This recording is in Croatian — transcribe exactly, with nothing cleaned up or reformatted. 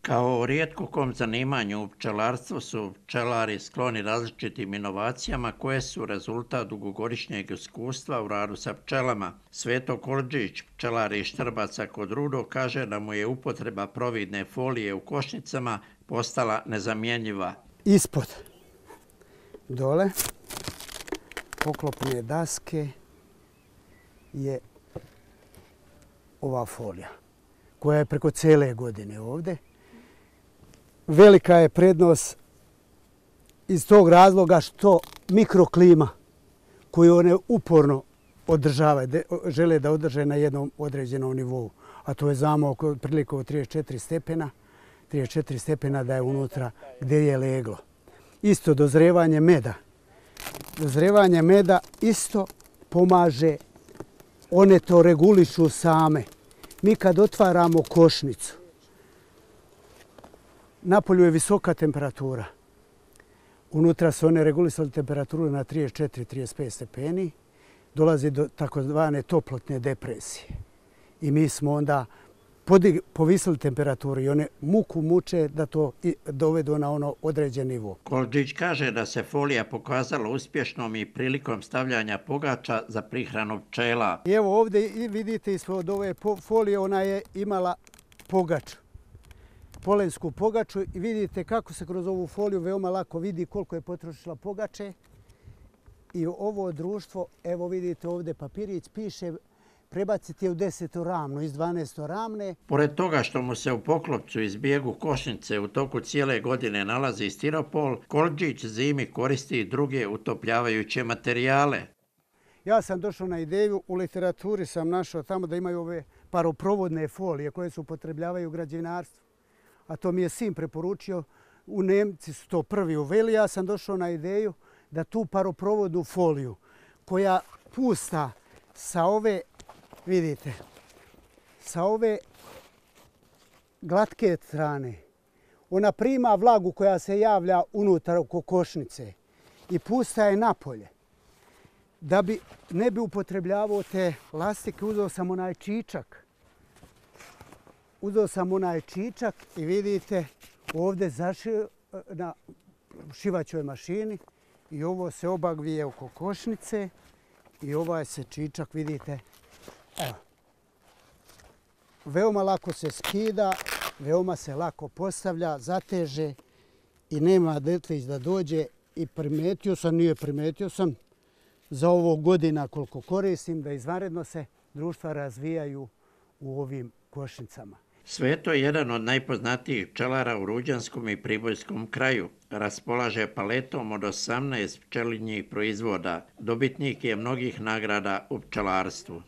Kao rijetko kom zanimanju u pčelarstvu su pčelari skloni različitim inovacijama koje su rezultat dugogodišnjeg iskustva u radu sa pčelama. Sveto Koldžić, pčelar iz Štrbaca kod Rudo, kaže da mu je upotreba providne folije u košnicama postala nezamjenjiva. Ispod, dole, poklopne daske je ova folija koja je preko cijele godine ovdje. Velika je prednost iz tog razloga što mikroklima koju one uporno održavaju, žele da održe na jednom određenom nivou, a to je znamo oko otprilike trideset četiri stepena, trideset četiri stepena da je unutra gdje je leglo. Isto dozrevanje meda. Dozrevanje meda isto pomaže, one to regulišu same. Mi kad otvaramo košnicu, napolju je visoka temperatura. Unutra su one regulisali temperaturu na trideset četiri do trideset pet stepeni. Dolazi do takozvane toplotne depresije. I mi smo onda povisili temperaturu i one muku muče da to dovedu na ono određen nivo. Koldžić kaže da se folija pokazala uspješnom i prilikom stavljanja pogača za prihranu pčela. I evo ovdje vidite ispod ove folije ona je imala pogaču. Polensku pogaču i vidite kako se kroz ovu foliju veoma lako vidi koliko je potrošila pogače. I ovo društvo, evo vidite ovdje papirić, piše prebaciti je u desetoramnu iz dvanaestoramne. Pored toga što mu se u poklopcu iz bijegu košnice u toku cijele godine nalazi stiropol, Koldžić zimi koristi i druge utopljavajuće materijale. Ja sam došao na ideju, u literaturi sam našao tamo da imaju ove paroprovodne folije koje se upotrebljavaju u građevinarstvu. A to mi je sin preporučio, u Nemci su to prvi uveli, ja sam došao na ideju da tu paroprovodnu foliju koja pusta sa ove, vidite, sa ove glatke strane, ona prima vlagu koja se javlja unutar oko košnice i pusta je napolje. Da bi ne bi upotrebljavao te lastike, uzeo sam onaj čičak. Uzeo sam onaj čičak i vidite ovdje zašio na šivaćoj mašini i ovo se obagvije oko košnice i ovaj se čičak, vidite, evo. Veoma lako se skida, veoma se lako postavlja, zateže i nema detlić da dođe i primetio sam, nije primetio sam, za ovo godina koliko koristim da izvanredno se društva razvijaju u ovim košnicama. Sveto je jedan od najpoznatijih pčelara u Ruđanskom i Pribojskom kraju. Raspolaže paletom od osamnaest pčelinjih proizvoda. Dobitnik je mnogih nagrada u pčelarstvu.